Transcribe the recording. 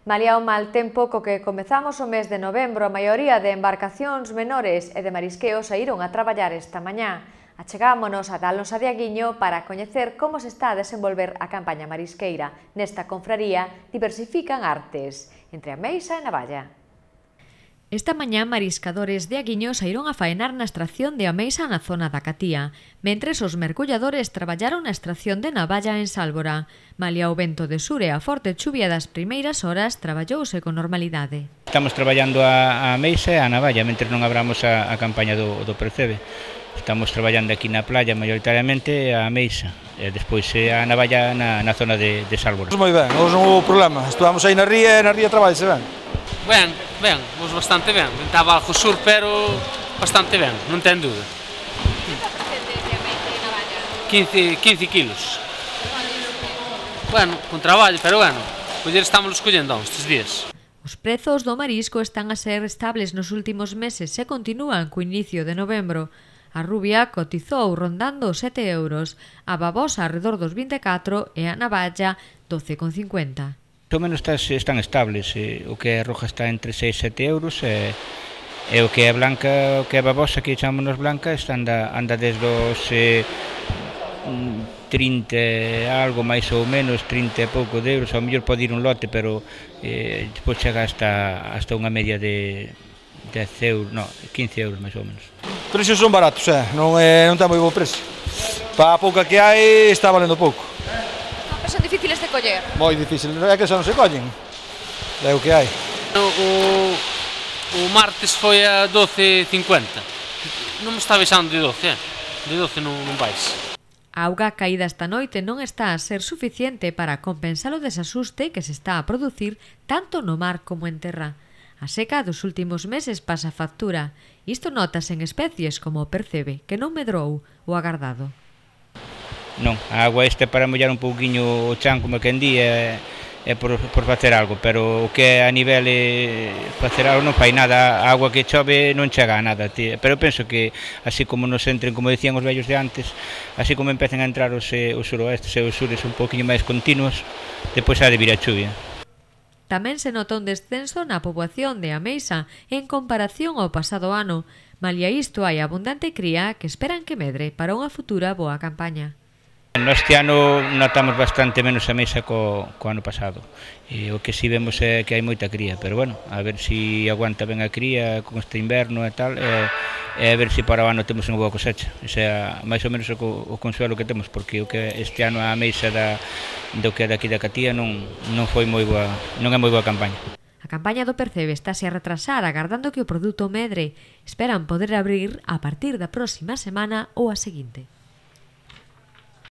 Malia o mal tempo co que comezamos o mes de novembro, a maioría de embarcacións menores e de marisqueo saíron a traballar esta mañá. Achegámonos a Alonso de Aguiño para coñecer como se está a desenvolver a campaña marisqueira. Nesta confraría diversifican artes, entre a meixa e a navalla. Esta mañá, mariscadores de Aguiño saíron a faenar na extracción de ameixa na zona da Catía, mentres os mergulladores traballaron na extracción de navalla en Sálvora. Malia o vento de sur e a forte chuvia das primeiras horas, traballouse con normalidade. Estamos traballando a ameixa e a navalla, mentre non abramos a campaña do percebe. Estamos traballando aquí na playa, maioritariamente a ameixa, e despois a navalla na zona de Sálvora. Moi ben, hoxe non houve problema. Estuvamos aí na ría e na ría trabalhase ben. Ben, hoxe bastante ben. Estaba algo sur, pero bastante ben, non ten dúda. Que está presente de ameixa e navalla? 15 kilos. Bueno, con traballo, pero bueno, poder estamos escollendo estes días. Os prezos do marisco están a ser estables nos últimos meses e continúan co inicio de novembro. A rubia cotizou rondando os 7 euros, a babosa arredor dos 24 e a navalla 12,50. O menos están estables, o que é roja está entre 6 e 7 euros e o que é blanca, o que é babosa, que chamamos blanca, anda desde os 30 algo máis ou menos, 30 e pouco de euros, ao mellor pode ir un lote, pero depois chega hasta unha media de 10 euros, no, 15 euros máis ou menos. Os precios son baratos, non ten moi bo precio. Para a pouca que hai está valendo pouco. Son difíciles de coller? Moi difícil, é que xa non se collen. É o que hai. O martes foi a 12,50. Non me está baixando de 12, De 12 non vais. A auga caída esta noite non está a ser suficiente para compensar o desasuste que se está a producir tanto no mar como en terra. A seca dos últimos meses pasa factura. Isto notas en especies como o percebe, que non medrou o agardado. Non, a agua é para mollar un pouquiño o chan, como quen di, é por facer algo, pero o que é a nivel facer algo non fai nada, a agua que chove non chega a nada, pero penso que así como nos entren, como decían os vellos de antes, así como empecen a entrar os suroestes e os sures un pouquiño máis continuos, depois ha de vir a chuvia. Tamén se nota un descenso na poboación de ameixa en comparación ao pasado ano. Malia isto, hai abundante cría que esperan que medre para unha futura boa campaña. Este ano notamos bastante menos ameixa co ano pasado. O que si vemos é que hai moita cría, pero bueno, a ver se aguanta ben a cría con este inverno e tal, e a ver se para o ano temos unha boa cosecha. Ese é máis ou menos o consuelo que temos, porque o que este ano a ameixa do que é daqui da Catía non foi moi boa, non é moi boa campaña. A campaña do percebe estáse a retrasar agardando que o produto medre. Esperan poder abrir a partir da próxima semana ou a seguinte.